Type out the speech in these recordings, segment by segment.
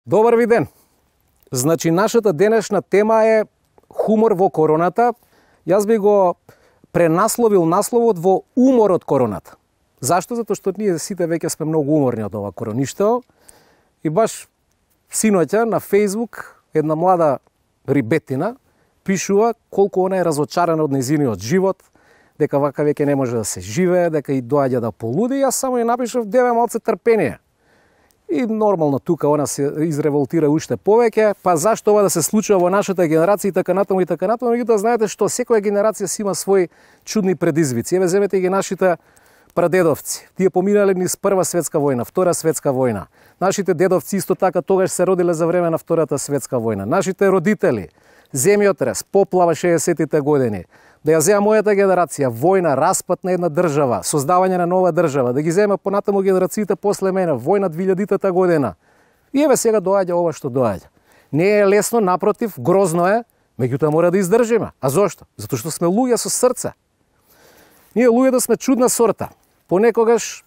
Добар ви ден! Значи, нашата денешна тема е хумор во короната. Јас би го пренасловил насловот во умор од короната. Зашто? Затоа што ние сите веќе сме многу уморни од ова короништво. И баш синоќа на Facebook една млада рибетина пишува колку она е разочарана од нејзиниот живот, дека вака веќе не може да се живее, дека и доаѓа да полуди. Јас само ја напишав: деве малце трпение. И нормално тука она се изреволтира уште повеќе, па зашто ова да се случува во нашата генерација и така натаму и така натаму. Меѓутоа знаете што, секоја генерација си има своји чудни предизвици. Еве земете ги нашите прадедовци. Тие поминале низ Прва светска војна, Втора светска војна. Нашите дедовци исто така тогаш се родиле за време на Втората светска војна. Нашите родители, земјотрес, поплава 60-тите години. Да ја зема мојата генерација, војна, распад на една држава, создавање на нова држава, да ги зема понатаму генерациите после мене, војна 2000-та година. И еве сега доаѓа ова што доаѓа. Не е лесно, напротив, грозно е, меѓутоа мора да издржиме. А зошто? Затоа што сме луѓе со срце. Ние луѓето сме чудна сорта. Понекогаш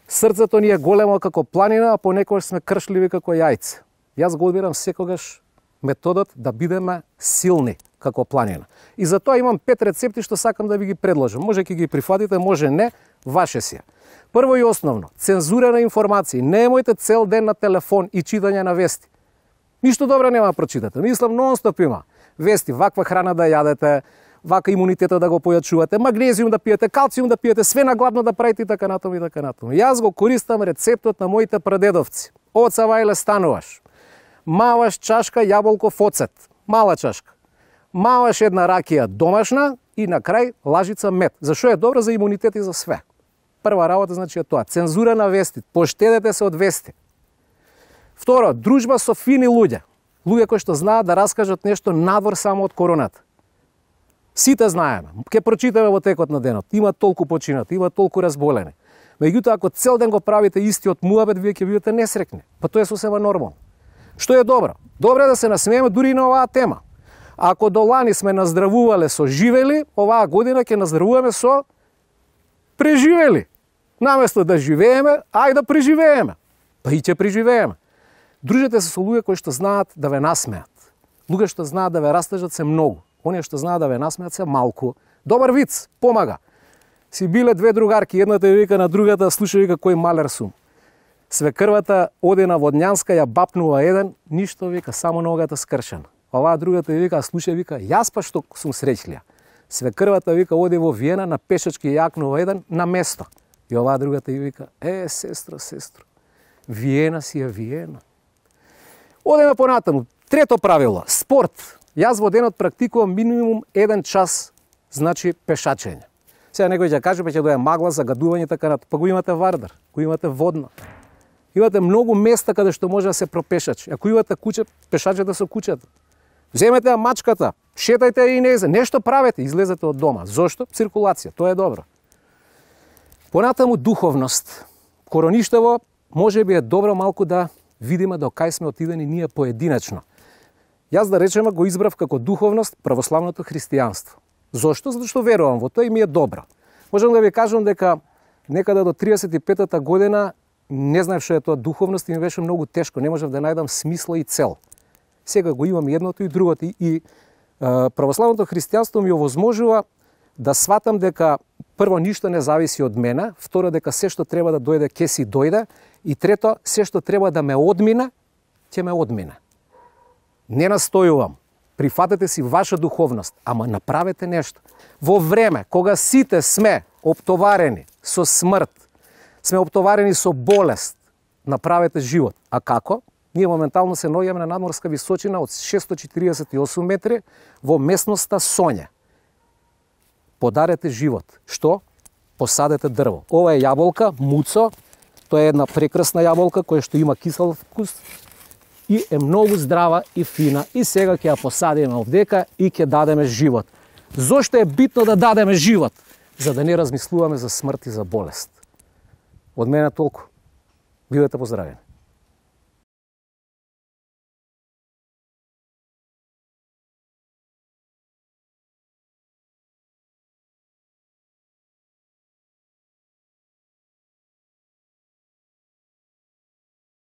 срцето ни е големо како планина, а понекогаш сме кршливи како јајце. Јас го одбирам секогаш методот да бидеме силни како планина. И затоа имам 5 рецепти што сакам да ви ги предложам. Може ќе ги прифатите, може не, ваше си. Прво и основно, цензура на информации. Немојте цел ден на телефон и читање на вести. Ништо добро нема да прочитате. Мислам, нон-стоп има вести, ваква храна да јадете, вака имунитета да го појачувате, магнезиум да пиете, калциум да пиете, све нагладно да правите и така натаму и така натаму. Јас го користам рецептот на моите прадедовци. Оца Вајле Стануваш. Маваш чашка јаболков оцет, мала чашка. Маваш една ракија домашна и на крај лажица мед. Зашо е добро? За имунитет и за све. Прва работа значи е тоа. Цензура на вести. Поштедете се од вести. Второ, дружба со фини луѓе. Луѓе кои што знаат да раскажат нешто надвор само од короната. Сите знаеме. Ке прочитаме во текот на денот. Има толку починати, има толку разболени. Меѓутоа, ако цел ден го правите истиот муабет, вие ќе бидете несрекни. Па тоа е сосема нормално. Што е добро? Добро е да се насмееме дури и на оваа тема. Ако до лани сме наздравувале со живели, оваа година ќе наздравуваме со преживели. Наместо да живееме, ај да преживееме. Па и ќе преживееме. Дружете се со луѓе кои што знаат да ве насмеат. Луѓе што знаат да ве растажат се многу. Оние што знаат да ве насмеат се малку. Добар виц, помага. Си биле две другарки, едната ја вика на другата: слушај, вика, кој малер сум. Свекрвата оде на Водњанска, ја бапнува еден, ништо, вика, само ногата скршена. Оваа другата вика: слушај, вика, јас па што сум среќлија. Свекрвата, вика, оде во Виена, на пешачки јакнува еден на место. И оваа другата вика: сестро, Виена си е Виена. Одеме понатаму. Трето правило, спорт. Јас во денот практикувам минимум 1 час, значи пешачење. Сега некој ќе каже, ќе дое магла, загадување, така натаму. Па го имате Вардар, го имате Водно. Имате многу места каде што може да се пропешачи. Ако имате куќе, пешачете со куќата. Земете ја мачката, шетајте и незе, нешто правете, излезете од дома. Зошто? Циркулација, тоа е добро. Понатаму духовност. Короништево можеби е добро малку да видиме до кај сме отидени ние поединачно. Јас да речеме го избрав како духовност православното христијанство. Зошто? Затоа што верувам во тоа и ми е добро. Можам да ви кажам дека некаде до 35-та година не знаев што е тоа духовност и ми беше многу тешко, не можев да најдам смисла и цел. Сега го имам едното и другото и православното христијанство ми овозможува да сватам дека прво ништо не зависи од мене, второ дека се што треба да дојде ќе си дојде и трето се што треба да ме одмине, ќе ме одмине. Не настојувам. Прифатете си ваша духовност, ама направете нешто. Во време кога сите сме оптоварени со смрт, сме оптоварени со болест, направете живот. А како? Ние моментално се наоѓаме на надморска височина од 648 метри во местноста Сонје. Подарете живот. Што? Посадете дрво. Ова е јаболка, муцо. Тоа е една прекрасна јаболка која што има кисел вкус и е многу здрава и фина. И сега ќе ја посадиме овдека и ќе дадеме живот. Зошто е битно да дадеме живот? За да не размислуваме за смрт и за болест. Од мене толку. Бидете поздравени.